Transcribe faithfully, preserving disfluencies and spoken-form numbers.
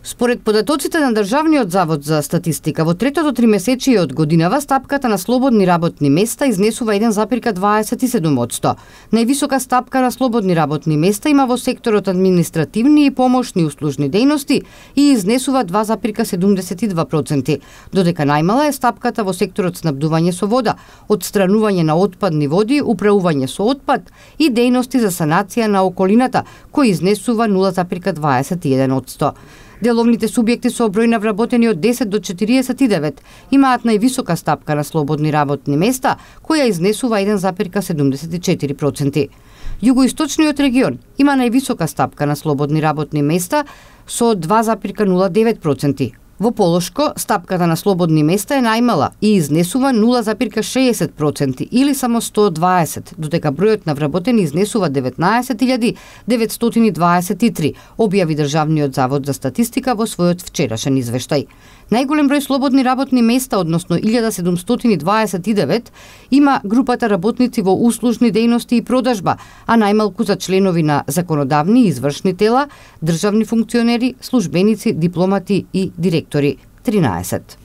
Според податоците на Државниот завод за статистика, во третото тримесечие од годинава стапката на слободни работни места изнесува еден запирка дваесет и седум одсто. Највисока стапка на слободни работни места има во секторот административни и помошни услужни дејности и изнесува два запирка седумдесет и два проценти, додека најмала е стапката во секторот снабдување со вода, отстранување на отпадни води, управување со отпад и дејности за санација на околината, кој изнесува нула запирка дваесет и еден одсто. Деловните субјекти со број на вработени од десет до четириесет и девет имаат највисока стапка на слободни работни места, која изнесува еден запирка седумдесет и четири проценти. Југоисточниот регион има највисока стапка на слободни работни места со два запирка нула девет проценти. Во Полошко, стапката на слободни места е најмала и изнесува нула запирка шеесет проценти или само сто дваесет, додека бројот на вработени изнесува деветнаесет илјади деветстотини дваесет и три, објави Државниот завод за статистика во својот вчерашен извештај. Најголем број слободни работни места, односно илјада седумстотини дваесет и девет, има групата работници во услужни дејности и продажба, а најмалку за членови на законодавни и извршни тела, државни функционери, службеници, дипломати и директори – тринаесет.